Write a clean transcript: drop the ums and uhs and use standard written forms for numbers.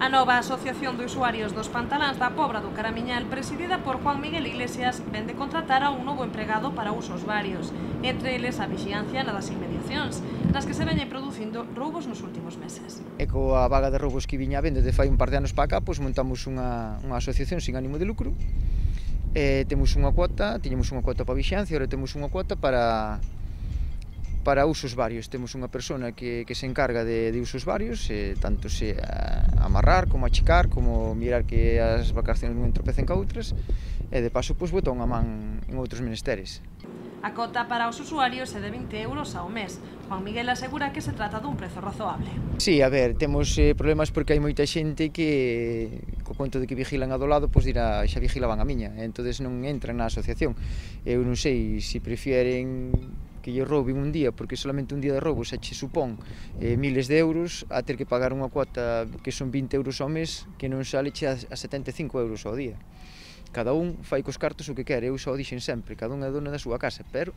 A nova Asociación de Usuarios dos Pantaláns da Pobra do Caramiñal, presidida por Juan Miguel Iglesias, vende contratar a un novo empregado para usos varios, entre eles a vixiancia nas inmediacións, nas que se veñen producindo roubos nos últimos meses. E coa vaga de roubos que viña vendo de fai un par de anos para cá, pois montamos unha asociación sin ánimo de lucro. Temos unha cuota, tiñamos unha cuota para vixiancia, agora temos unha cuota para usos varios. Temos unha persona que se encarga de usos varios, tanto se amarrar, como achicar, como mirar que as vacacións non entropecen ca outras, e de paso pois botar unha man en outros menesteres. A cota para os usuarios é de 20 euros ao mes. Juan Miguel asegura que se trata dun prezo razoable. Sí, a ver, temos problemas porque hai moita xente que, co conto de que vigilan a do lado, pois dirá, xa vigilaban a miña, e entonces non entran na asociación. Eu non sei se prefieren que lle rouben un día, porque solamente un día de roubo xa che supón miles de euros, a ter que pagar unha cuota que son 20 euros ao mes, que non sale che a 75 euros ao día. Cada un fai cos cartos o que quere, eu só dixen sempre, cada un é dona da súa casa, pero